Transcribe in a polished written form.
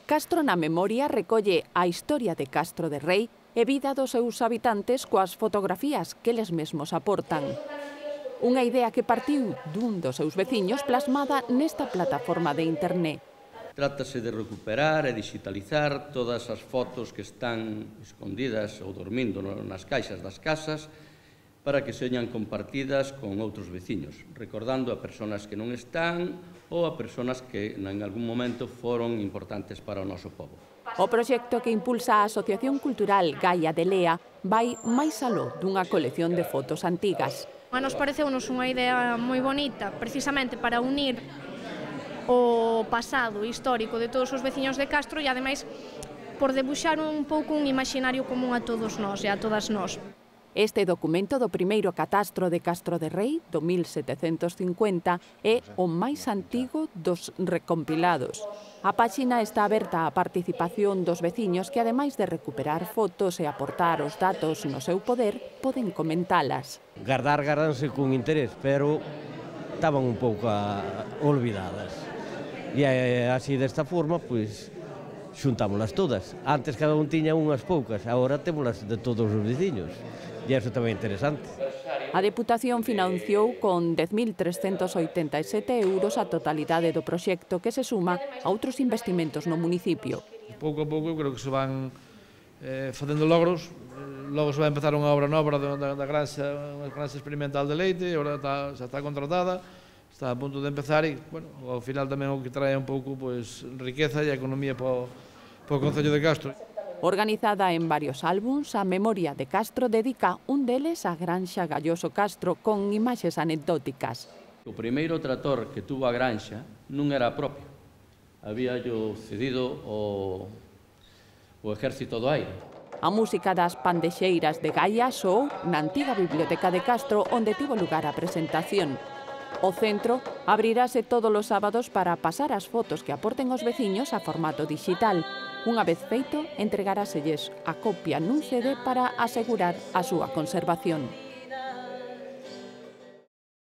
Castro na Memoria recolle a historia de Castro de Rei e vida dos seus habitantes coas fotografías que eles mesmos aportan. Unha idea que partiu dun dos seus veciños plasmada nesta plataforma de internet. Trátase de recuperar e digitalizar todas as fotos que están escondidas ou dormindo nas caixas das casas para que señan compartidas con outros veciños, recordando a persoas que non están ou a persoas que en algún momento foron importantes para o noso pobo. O proxecto que impulsa a Asociación Cultural Gaia de Lea vai máis aló dunha colección de fotos antigas. A nos pareceunos unha idea moi bonita, precisamente para unir o pasado histórico de todos os veciños de Castro e, ademais, por debuxar un pouco un imaginario común a todos nós e a todas nós. Este documento do primeiro catastro de Castro de Rei, do 1750, é o máis antigo dos recompilados. A páxina está aberta á participación dos veciños que, ademais de recuperar fotos e aportar os datos no seu poder, poden comentalas. Gardanse con interés, pero estaban un pouco olvidadas. E así desta forma, pois, xuntámolas todas. Antes cada un tiña unhas poucas, agora témolas de todos os veciños. E iso tamén é interesante. A Deputación financiou con 10.387 euros a totalidade do proxecto, que se suma a outros investimentos no municipio. Pouco a pouco, creo que se van facendo logros. Logo se vai empezar unha obra nova da granxa experimental de leite, agora xa está contratada, está a punto de empezar e, bueno, ao final tamén o que trae un pouco riqueza e economía para o Concello de Castro. Organizada en varios álbums, a Memoria de Castro dedica un deles á granxa Galloso Castro con imaxes anecdóticas. O primeiro trator que tuvo a granxa non era propio. Habíallo cedido o Exército do Aire. A música das pandexeiras de Gaia soou na antiga Biblioteca de Castro, onde tivo lugar a presentación. O centro abrirase todos os sábados para pasar as fotos que aporten os veciños a formato digital. Unha vez feito, entregaráselles a copia nun CD para asegurar a súa conservación.